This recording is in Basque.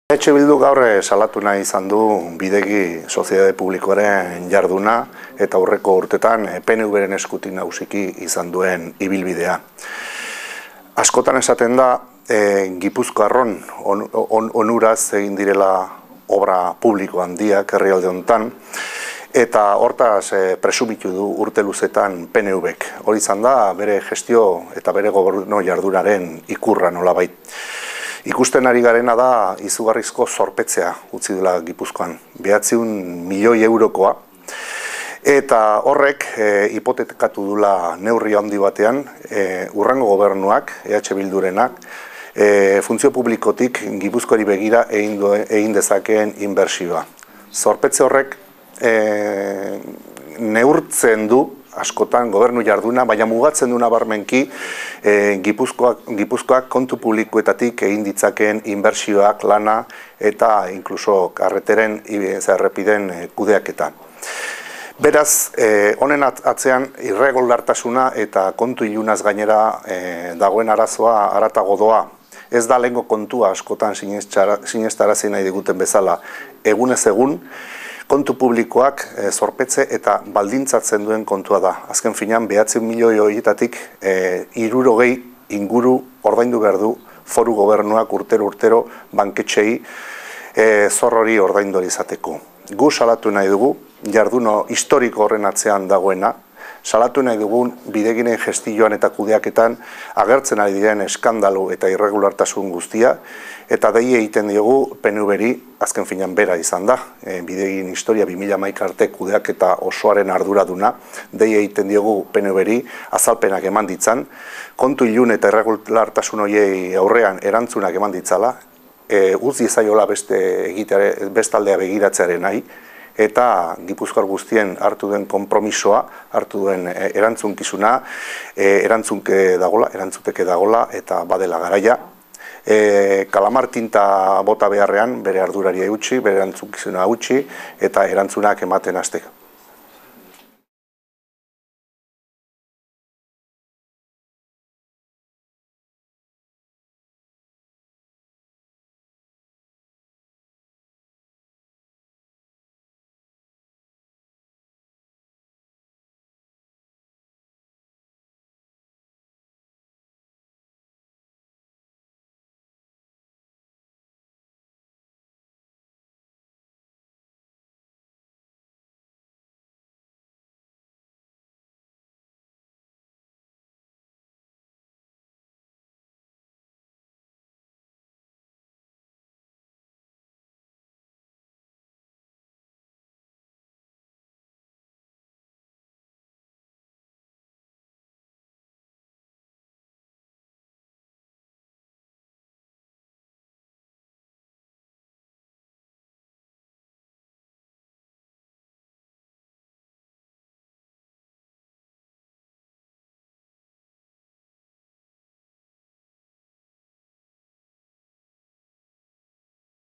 Bildu gaur salatu nahi izan du bidegi soziedade publikoaren jarduna eta aurreko urtetan PNV-ren eskutik nagusiki izan duen ibilbidea. Askotan esaten da Gipuzkoarron onuraz egin direla obra publiko handiak herrialde honetan, eta hortaz presumitu du urte luzetan PNV-ek. Hori izan da bere gestio eta bere gobernu jardunaren ikurra nolabait. Ikusten ari garena da izugarrizko zorpetzea utzi dela Gipuzkoan, 900 milioi eurokoa, eta horrek hipotekatu dula neurri handi batean hurrengo gobernuak, Bildurenak, funtzio publikotik Gipuzkoari begira egin dezakeen inbertsioa. Zorpetze horrek neurtzen du askotan gobernu jarduna, baina mugatzen du nabarmenki Gipuzkoak kontu publikoetatik egin ditzakeen inbertsioak, lana eta inkluso karreteren errepideen kudeaketa. Beraz, honen atzean irregulartasuna eta kontu ilunaz gainera dagoen arazoa haratago doa. Ez da lehengo kontua askotan sinestarazi nahi diguten bezala. Egunez egun, kontu publikoak zorpetze eta baldintzatzen duen kontua da. Azken finean, 900 milioi horietatik 60 inguru ordaindu behar du foru gobernuak urtero banketxei zor hori ordaindu izateko. Gu salatu nahi dugu, jarduno historiko horren atzean dagoena, salatu nahi dugun bideginen gestioan eta kudeaketan agertzen ari diren eskandalu eta irregulartasun guztia, eta dei egiten diogu PNV-ri azken finean bera izan da. Bidegin historia 2011 arte kudeaketa osoaren arduraduna, dei egiten diogu PNV-ri azalpenak eman ditzan, kontu ilun eta irregulartasun horiei aurrean erantzunak eman ditzala, utzi ezaiola bestaldea begiratzearen nahi, eta Gipuzkoar guztien hartu duen konpromisoa, hartu duen erantzunkizuna, erantzuteke dagola eta badela garaia. Kalamar tinta bota beharrean bere ardurari eutsi, bere erantzunkizuna utzi eta erantzunak ematen hasteko.